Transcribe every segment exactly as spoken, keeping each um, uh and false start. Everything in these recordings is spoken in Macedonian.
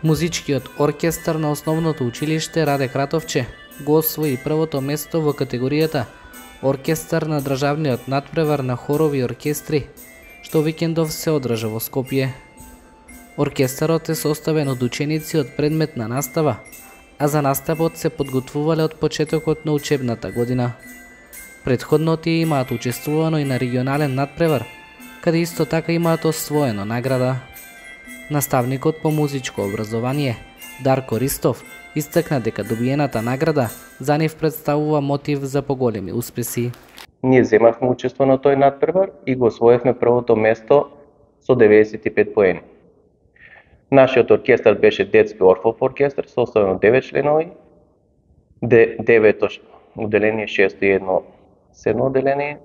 Музичкиот оркестар на основното училиште Раде Кратовче го освои првото место во категоријата Оркестар на државниот надпревар на хорови и оркестри, што викендов се одржа во Скопје. Оркестарот е составен од ученици од предметна настава, а за наставот се подготвувале од почетокот на учебната година. Претходно тие имаат учествувано и на регионален надпревар, каде исто така имаат освоено награда. Наставникот по музичко образование Дарко Ристов истакна дека добиената награда за нив представува мотив за поголеми успеси. Ние земавме учество на тој надпревар и го освоевме првото место со деветдесет и пет поени. Нашиот оркестар беше детски орфов оркестар, составен од девет членови, девето одделение, шесто и едно седмо одделение.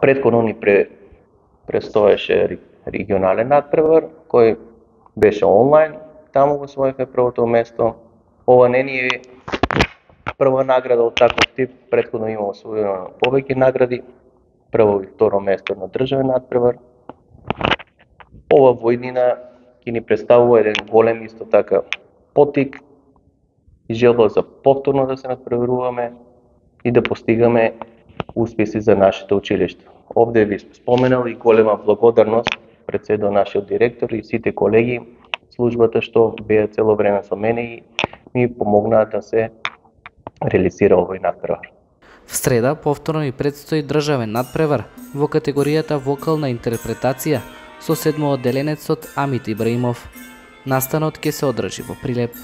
Претходно ни пре, престоеше регионален надпревар, кој беше онлайн, таму го освоивме првото место. Ова не ни е прва награда од таков тип, претходно има освоено повеќе награди, прво и второ место на државен надпревар. Ова во иднина ќе ни представува еден голем исто така поттик и желба за повторно да се надпреваруваме и да постигаме успеси за нашето училиште. Овде ви споменал и голема благодарност пред се до нашиот директор и сите колеги, службата што беа цело време со мене и ми помогнаа да се реализира овој надпревар. В среда повторно ни предстои државен надпревар во категоријата вокална интерпретација со седмоодделенецот Амит Ибраимов. Настанот ќе се одржи во Прилеп.